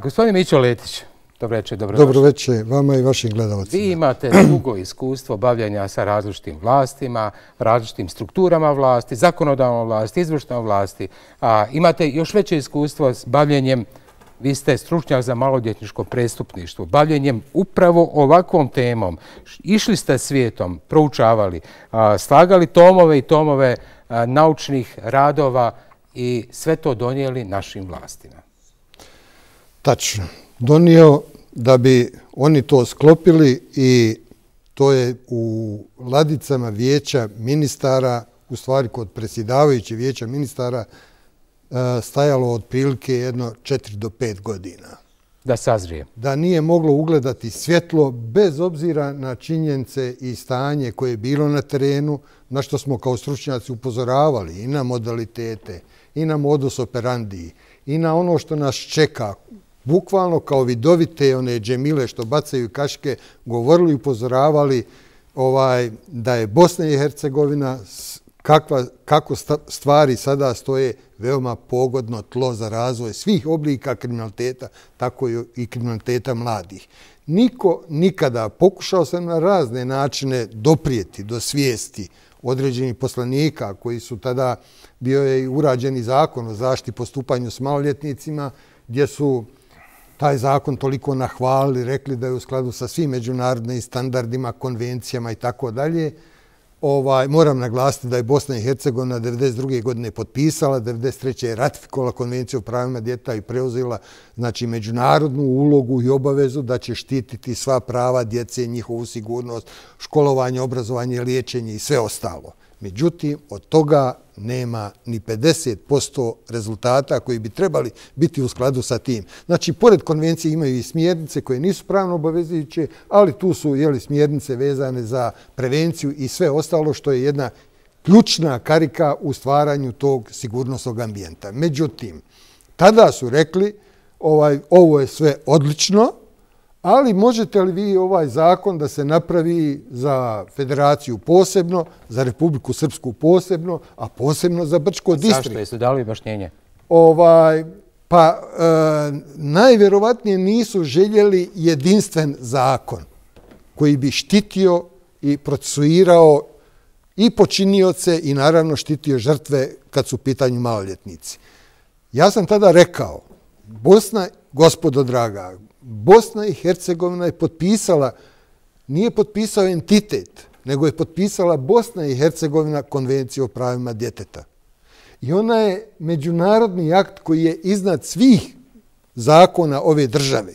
Gospodin Mićo Letić, dobro večer, dobrodošli. Dobro večer vama i vašim gledalcima. Vi imate dugo iskustvo bavljanja sa različitim vlastima, različitim strukturama vlasti, zakonodavnom vlasti, izvršnom vlasti. Imate još veće iskustvo s bavljenjem, vi ste stručnjak za maloljetničko prestupništvo, bavljenjem upravo ovakvom temom. Išli ste svijetom, proučavali, slagali tomove i tomove naučnih radova i sve to donijeli našim vlastima. Tačno. Donio da bi oni to sklopili i to je u ladicama vijeća ministara, u stvari kod predsjedavajućeg vijeća ministara, stajalo otprilike jedno 4 do 5 godina. Da sazrije. Da nije moglo ugledati svjetlo bez obzira na činjenice i stanje koje je bilo na terenu, na što smo kao stručnjaci upozoravali i na modalitete, i na modus operandi, i na ono što nas čeka. Bukvalno kao vidovite one džemile što bacaju kaške, govorili i upozoravali da je Bosna i Hercegovina, kako stvari sada stoje, veoma pogodno tlo za razvoj svih oblika kriminaliteta, tako i kriminaliteta mladih. Niko nikada, pokušao sam na razne načine doprijeti do svijesti određenih poslanika koji su tada, bio je i urađeni zakon o zaštiti postupanju s maloljetnicima, gdje su taj zakon toliko nahvalili, rekli da je u skladu sa svim međunarodnim standardima, konvencijama i tako dalje. Moram naglasiti da je Bosna i Hercegovina 1992. godine potpisala, 1993. je ratifikovala konvenciju o pravima djeteta i preuzela međunarodnu ulogu i obavezu da će štititi sva prava djece, njihovu sigurnost, školovanje, obrazovanje, liječenje i sve ostalo. Međutim, od toga nema ni 50% rezultata koji bi trebali biti u skladu sa tim. Znači, pored konvencije imaju i smjernice koje nisu pravno obavezujuće, ali tu su smjernice vezane za prevenciju i sve ostalo što je jedna ključna karika u stvaranju tog sigurnosnog ambijenta. Međutim, tada su rekli ovo je sve odlično, ali možete li vi ovaj zakon da se napravi za Federaciju posebno, za Republiku Srpsku posebno, a posebno za Brčko distrikt? Zašto? Jesu dali objašnjenje? Najvjerovatnije nisu željeli jedinstven zakon koji bi štitio i procesuirao i počinioce i naravno štitio žrtve kad su u pitanju maloljetnici. Ja sam tada rekao, gospodo draga, Bosna i Hercegovina je potpisala, nije potpisao entitet, nego je potpisala Bosna i Hercegovina konvenciju o pravima djeteta. I ona je međunarodni akt koji je iznad svih zakona ove države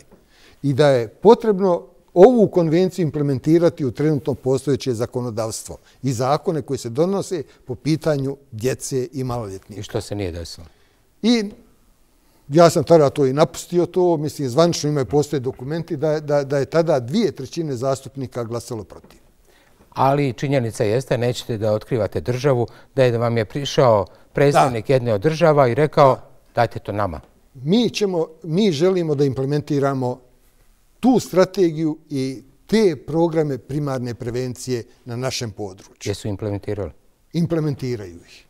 i da je potrebno ovu konvenciju implementirati u trenutno postojeće zakonodavstvo i zakone koji se donose po pitanju djece i maloljetnika. I što se nije desilo? Ja sam tada to i napustio to, mislim, zvanično imaju postoje dokumenti da je tada 2/3 zastupnika glasalo protiv. Ali činjenica jeste, nećete da otkrivate državu, da vam je prišao predstavnik jedne od država i rekao dajte to nama. Mi želimo da implementiramo tu strategiju i te programe primarne prevencije na našem području. Jesu implementirali? Implementiraju ih.